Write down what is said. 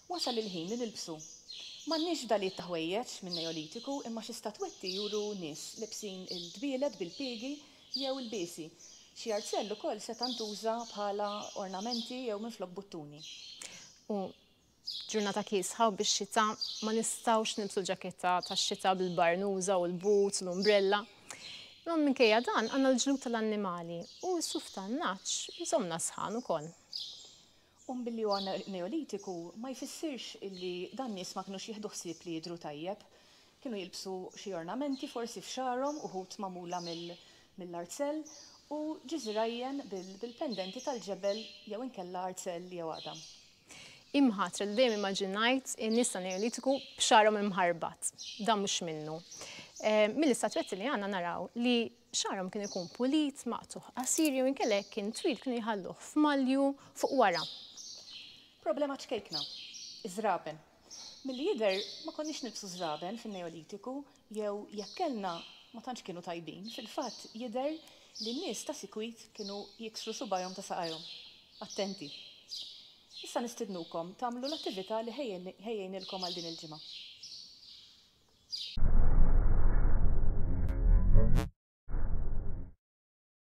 Wasal il-ħin li nilbsu. M'għandniex fdalijiet ta' ħwejjeġ min-Neolitiku imma xi statwetti juru nies lebsin il-dbielet bil-piegi jew ilbiesi. Xi arzell ukoll seta' ntuża bħala ornamenti jew minflok buttuni. U ġurnata kiesħa u bix-xita ma nistgħux nilbsu l-ġaketta tax-xita bil-barnuża u l-boots u l-umbrella. Imma minkejja dan għandna l-ġlud tal-annimali u s-suf tan-nagħaġ jżommna sħan ukoll. U billi huwa Neolitiku ma jfissirx illi dan nies ma kinux jieħdu ħsieb li jidhru tajjeb. Kienu jilbsu xi ornamenti forsi f'xagħarhom, uħud magħmula mill-arzell, u ġiżirajjen bil-pendenti tal-ġebel jew inkella arzell jew għadam. Imħatra li dejjem immaġinajt in-nies tan-Neolitiku b'xagħarhom imħarbat. Dan mhux minnu. Mill-istatwetti li għandna naraw li xagħarhom kien ikun pulit, maqtugħ qasir jew inkella jekk kien twil kienu jħalluh f'malju fuq wara. Problema ċkejkna. Iż-żraben. Milli jidher ma konniex nilbsu żraben fin-Neolitiku jew jekk kellna ma tantx kienu tajbin. Fil-fatt jidher li n-nies ta' sikwit kienu jiksru subgħajhom ta' saqajhom. Attenti! Issa nistidnukom tagħmlu l-attività li ħejjejnilkom għal din il-ġimgħa.